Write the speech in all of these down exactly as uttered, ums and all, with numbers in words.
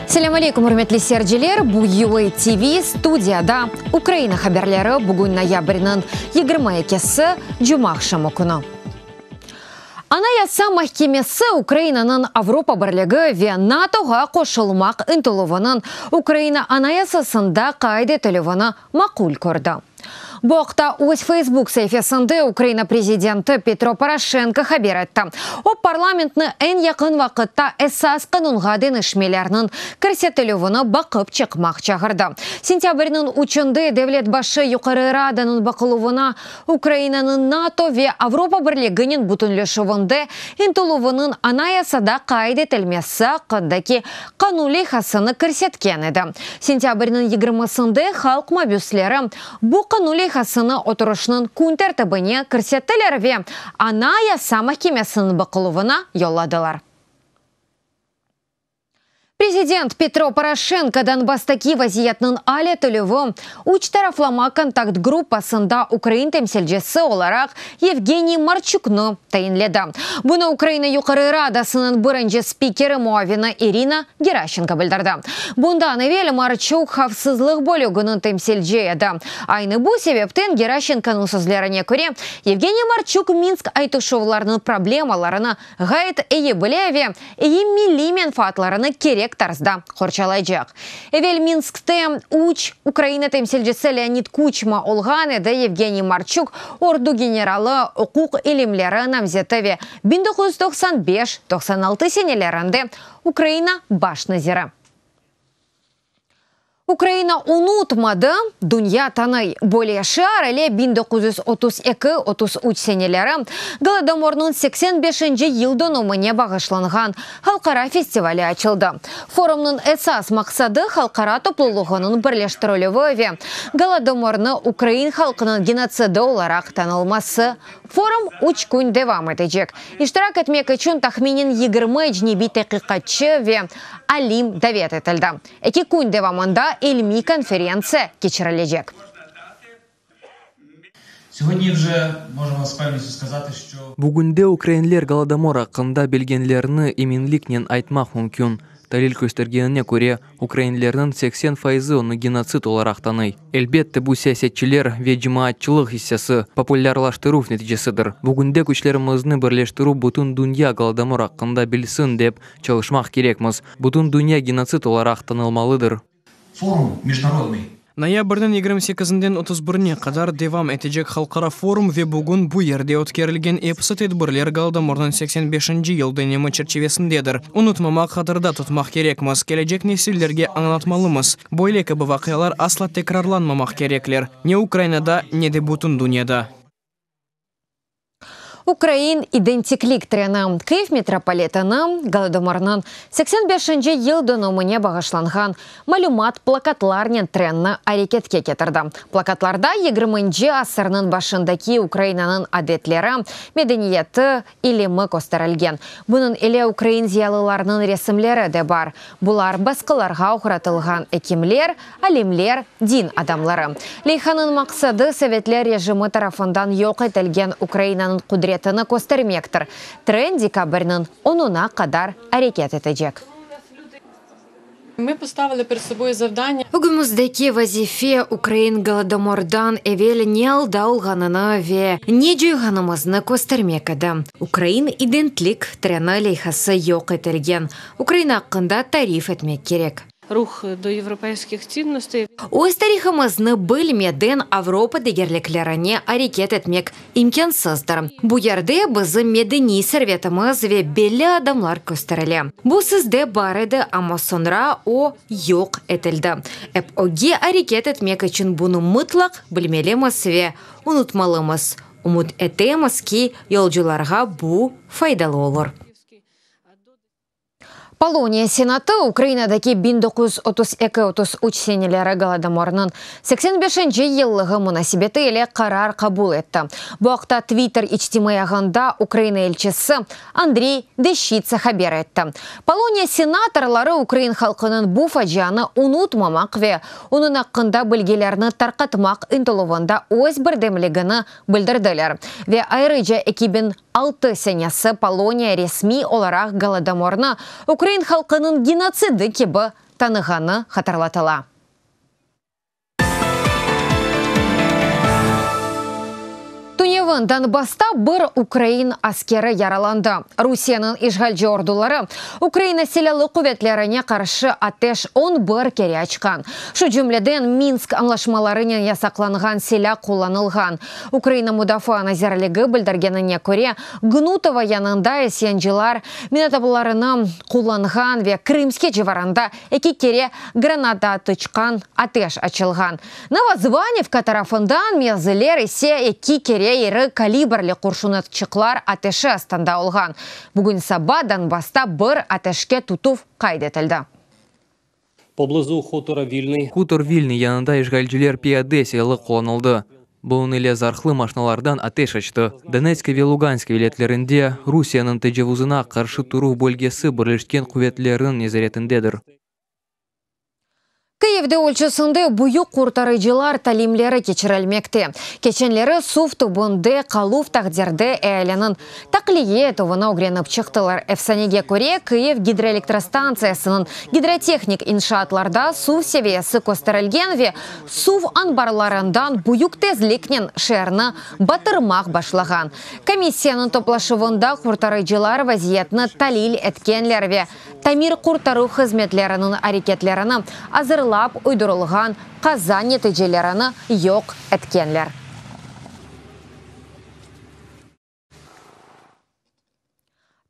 Selâm aleyküm, ürmetli seyirciler. Bu U A T V studiyada Ukraina haberleri, bugün noyabrniñ yigirmi ekisi, cumaaqşamı künü. Anayasa mahkemesi Ukrainanıñ Avropa Birligi ve NATOğa qoşulmaq ıntıluvınıñ Ukraina Anayasasında qayd etilüvini maqul kördi. Bu aqta öz Facebook saifesinde Ukraina prezidenti Petro Poroşenko haber etti. O, parlamentni eñ yaqın vaqıtta esas qanunğa deñişmelerniñ kirsetilüvini baqıp çıqmaq çağırdı. Sentâbrniñ üçünde devlet başı Yuqarı Radanıñ baqıluvına Ukrainanıñ NATO ve Avropa Birliginen bütünleşüvinde ıntıluvınıñ Anayasada qayd etilmesi aqqındaki qanun leyhasını kirsetken edi. Sentâbrniñ yigirmisinde halq mabüsleri bu qanun leyhasını oturışnıñ kün tertibine kirsettiler ve Anayasa mahkemesiniñ baqıluvına yolladılar. Prezident Petro Poroşenko Donbasstaki vaziyetniñ al etilüvi üç taraflama kontakt gruppasında ukrain temsilcisi olaraq Yevgeniy Marçuknı tayinledi. Bunı Ukraina Yuqarı Radasınıñ birinci spikeri muavini İrina Geraşenko bildirdi. Bundan evel Marçuk havfsızlıq bölüginiñ temsilci edi. Aynı bu sebepten, Geraşenkonıñ sözlerine köre, Yevgeniy Marçuk Minsk aytışuvlarınıñ problemalarını ğayet eyi bile ve eyi milliy menfaatlarını kerek tarzda qorçalaycaq. Evel Minskte üç Ukraina temsilcisi Leonid Kuçma olğan edi. Yevgeniy Marçuk ordu generalı, uquq ilimleri namzeti ve biñ doquz yüz doqsan beş-doqsan altı senelerinde Ukraina baş naziri. Ukraina unutmadı, dünya tanıy. Böyle şiar ile biñ doquz yüz otuz eki-otuz üç seneleri Golodomornıñ seksen beşinci yıl dönümine bağışlanğan halqara festivali açıldı. Forumnıñ esas maqsadı halqara toplulığınıñ birleştirilüvi ve Golodomornı ukrain halqınıñ genotsidi olaraq tanılması. Forum üç kün devam etecek. İştirak etmek içün tahminen yigirmi ecnebiy taqiqatçı ve alim davet etildi. Eki kün devamında ilmiy konferentsiya keçirilecek. Сьогодні вже можемо з певністю сказати, що Bugünde ukrainler Golodomor aqqında bilgenlerini eminliknen aytmaq mümkün. Talil köstergenine köre, ukrainlerniñ seksen faizi onı genotsid olaraq tanıy. Elbette, bu siyasetçiler ve cemaatçılıq issesi populârlaştıruv neticesidir. Bugünde küçlerimizni birleştirip, bütün dünya Golodomor aqqında bilsin dep çalışmaq kerekmiz. Bütün dünya genotsid olaraq tanılmalıdır. Форум міжнародний. Noyabrniñ yigirmi sekizinden otuz birine qadar devam etecek halqara forum ve bugün bu yerde ötkerilgen episi tedbirler Golodomornıñ seksen beşinci yıl dönemi çerçivesindedir. Unutmamaq, hatırda tutmaq kerekmiz, kelecek nesillerge añlatmalımız. Böyle kibi vaqialar asla tekrarlanmamaq kerekler. Ne Ukrainada, ne de bütün dünyada. Ukrain identiklik treni. Kyiv metropoliteni Golodomornıñ seksen beşinci yıl dönümine bağışlanğan malümat plakatlarnen trenni areketke ketirdi. Plakatlarda yigirminci asırnıñ başındaki Ukrainanıñ adetleri, medeniyeti, ilimi kösterilgen. Bunıñ ile ukrain ziyalılarınıñ resimleri de bar. Bular basqılarğa oğratılğan ekimler, alimler, din adamları. Leyhanıñ maqsadı Sovetler rejimi tarafından yoq etilgen Ukrainanıñ qudretini köstermektir. Tren dekabrniñ onuna qadar areket etecek. Ми поставили перед собою завдання Ögümizdeki vazife ukrain Golodomordan evel ne alda olğanını ve ne coyğanımıznı köstermek edi. Ukrain identiklik treni leyhası yoq etilgen Ukraina aqqında tarif etmek kerek. Рух до європейських цінностей. Öz tarihımıznı bilmeden Avropa degerliklerine areket etmek imkânsızdır. Bu yerde bizim medeniy servetimiz ve belli adamlar kösterile. Bu sizde bar edi, amma soñra o yoq etildi. Ep ögge areket etmek içün bunı mıtlaq bilmelimiz ve unutmamalımız. Ümüt etemiz ki, yolcularğa bu faydalı olur. Poloniya Senatı Ukrainadaki biñ doquz yüz otuz eki-otuz üç seneleri Golodomornıñ seksen beşinci yıllığı munasebeti ile qarar qabul etti. Bu aqta Twitter içtimaiy ağında Ukraina elçisi Andrey Deşçitsa haber etti. Poloniya senatorları ukrain halqınıñ bu facianı unutmamaq ve onıñ aqqında bilgilerni tarqatmaq ıntıluvında öz birdemligini bildirdiler. Ve ayrıca eki biñ altı senesi Poloniya resmiy olaraq Golodomornı ukrain halqınıñ genotsidi kibi tanığanı hatırlatıla. Tünevin Donbassta bir ukrain askeri yaralandı. Rusiyeniñ işğalci orduları Ukraina Silâlı quvetlerine qarşı ateş on bir kere açqan. Şu cümleden Minsk añlaşmalarınen yasaqlanğan silâ qullanılğan. Ukraina Mudafaa nazirligi bildirgenine köre, Gnutova yanında isyancılar minatabalarını qullanğan ve Krımske civarında eki kere granatatıçqan ateş açılğan. Novozvanivka tarafından mevziler ise eki kere iri kalibrli qurşunatçıqlar ateşi astında olğan. Bugün saba Donbassta bir ateşke tutuv qayd etildi. Poblizu hutora Vilnıy. Hutor Vilnıy yanında işğalciler piyade silâlı qullanıldı. Bunıñ ile zarhlı maşinalardan ateş açtı. Donetsk ve Lugansk vilâyetlerinde Rusiyeniñ tecavuzına qarşı turuv bölgesi Birleşken quvetlerniñ nezaretindedir. Kıyivde ölçüsinde büyük qurtarıcılar talimleri keçirilmekte. Keçenleri suv tübünde qaluv taqdirde ealiniñ taqliye etüvini ögrenip çıqtılar. Efsanege köre, Kıyiv gidroelektrostantsiyasınıñ gidrotehnik inşaatlarda suv seviyesi kösterilgen ve suv anbarlarından büyük tezliknen şeerni batırmaq başlağan. Komissiyanıñ toplaşuvında qurtarıcılar vaziyetni talil etkenler ve tamir-qurtaruv hızmetleriniñ areketlerini azırlap uydurılğan qaza neticelerini yoq etkenler.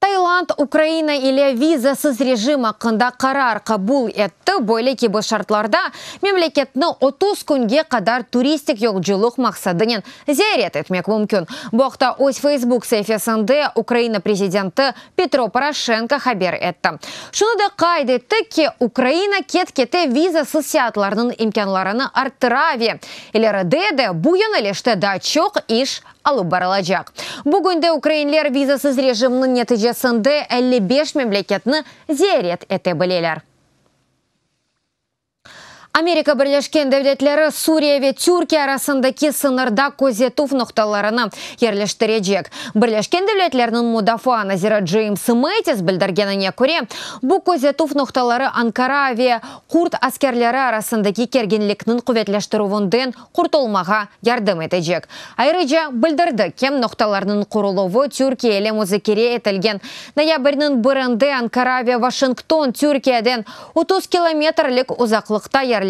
Tayland Ukraina ile vizasız rejim aqqında qarar qabul etti. Böyle kibi şartlarda memleketni otuz künge qadar turistik yolculıq maqsadınen ziyaret etmek mümkün. Bu aqta öz Facebook saifesinde Ukraina prezidenti Petro Poroşenko haber etti. Şunı da qayd etti ki, Ukraina ket-kete vizasız seyaatlarnıñ imkânlarını arttıra ve ileride de bu yönelişte daa çoq iş alıp barılacaq. Bugün de ukrainler vizasız rejimniñ neticesinde elli beş memleketni ziyaret ete bileler. Amerika Birleşken Devletleri Suriye ve Türkiye arasındaki sıñırda közetüv noqtalarını yerleştirecek. Birleşken Devletlerniñ Mudafaa naziri James Mattis bildirgenine köre, bu közetüv noqtaları Ankara ve kurd askerleri arasındaki kerginlikniñ quvetleştirüvinden qurtulmağa yardım etecek. Ayrıca bildirdi ki, noqtalarnıñ quruluvı Türkiye ile muzakere etilgen. Noyabrniñ birinde Ankara ve Washington Türkiyeden otuz kilometrlik uzaqlıqta yerleşken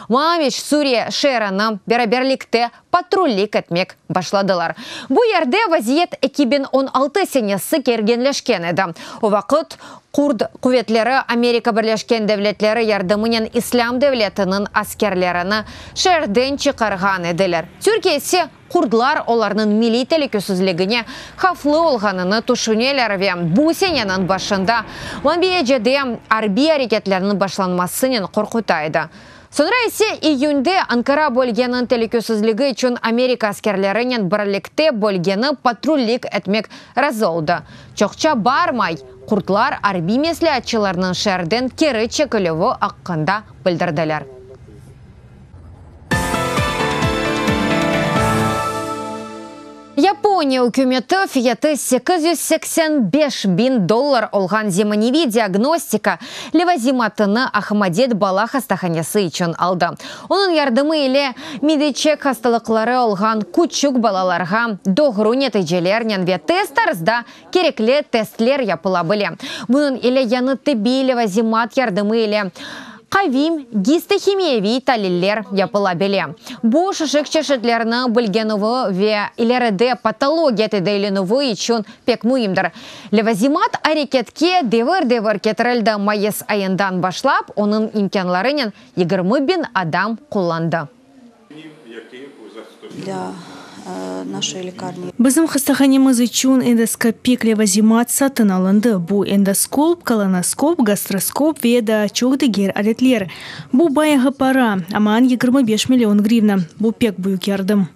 Manbic Suriye şeerini beraberlikte patrullik etmek başladılar. Bu yerde vaziyet eki biñ on altı senesi kerginleşken edi. O vaqıt kurd quvetleri Amerika Birleşken Devletleri yardımınen İslâm devletiniñ askerlerini şeerden çıqarğan ediler. Türkiye ise kurdlar olarnıñ milliy telükesizligine havflı olğanını tüşüneler ve bu seneniñ başında Manbijde arbiy areketlerniñ başlanmasınen qorquta edi. Soñra ise iyünde Ankara bölgeniñ telükesizligi içün Amerika askerlerinen birlikte bölgeni patrullik etmek razı oldı. Çoqça barmay, kurdlar arbiy mesleatçılarnıñ şeerden keri çekilüvi aqqında bildirdiler. Yaponiya ükümeti fiyatı sekiz yüz seksen beş biñ dollar olğan zemaneviy diagnostika levazimatını Ahmadet bala hastahanesi içün aldı. Onıñ yardımı ile mideçek hastalıqları olğan küçük balalarğa doğru neticelernen ve tez tarzda kerekli testler yapıla bile. Bunıñ ile yañı tibbiy levazimat yardımı ile qavim gistohimiyeviy taliller yapıla bile. Bu şişik çeşitlerini bilgenüvi ve ileride patologiya tedaviylenüvi içün pek müimdir. Levazimat areketke devir-devir ketirildi. Mayıs ayından başlap, onıñ imkânlarınen yigirmi biñ adam qullandı. Bizim hastahanemiz içün endoskopik levazimat satın alındı. Bu endoskop, kolonoskop, gastroskop ve daa çoq diger aletler. Bu bayağı para, aman yigirmi beş million grivna. Bu pek büyük yardım.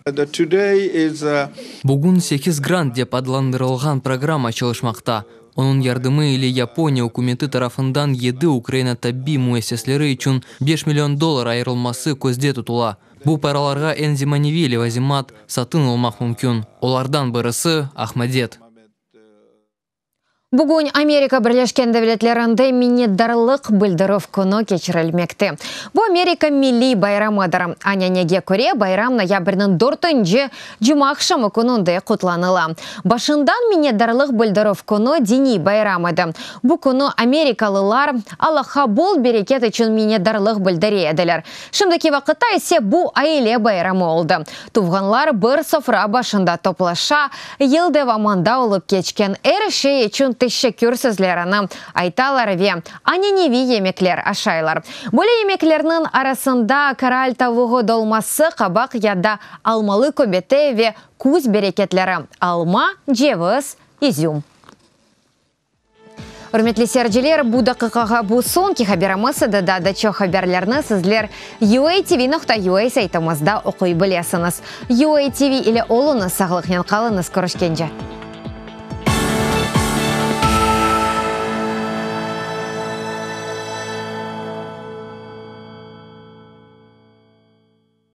Bugün sekiz grant dep adlandırılğan programma çalışmaqta. Onıñ yardımı ile Yaponiya ükümeti tarafından yedi Ukraina tabbiy müessiseleri içün beş million dollar ayırılması közde tutula. Bu paralarğa eñ zemaneviy levazimat satın almaq mümkün. Olardan birisi Ahmadet. Bugün Amerika Birleşken Devletlerinde minnetdarlıq bildirüv künü keçirilmekte. Bu Amerika milliy bayramıdır. Ananege köre bayram noyabrniñ dörtünci cumaaqşamı kününde qutlanıla. Başından minnetdarlıq bildirüv künü diniy bayram edi. Bu künü amerikalılar Allahqa bol bereket içün minnetdarlıq bildire ediler. Şimdiki vaqıtta ise bu aile bayramı oldı. Tuvğanlar bir sofra başında toplaşa, yıl devamında olıp keçken er şey içün teşekkür sözlerini aytalar ve ananeviy yemekler aşaylar. Böyle yemeklerniñ arasında koral tavuğı dolması, qabaq ya da almalı köbete ve küz bereketleri alma, ceviz, izüm. Ürmetli seyirciler, bu daqiqağa bu soñki haberimiz edi. Daa da çoq haberlerni sizler U A T V nokta U A saytımızda oquy bilesiñiz. U A T V ile oluñız, sağlıqnen qalıñız, körüşkence.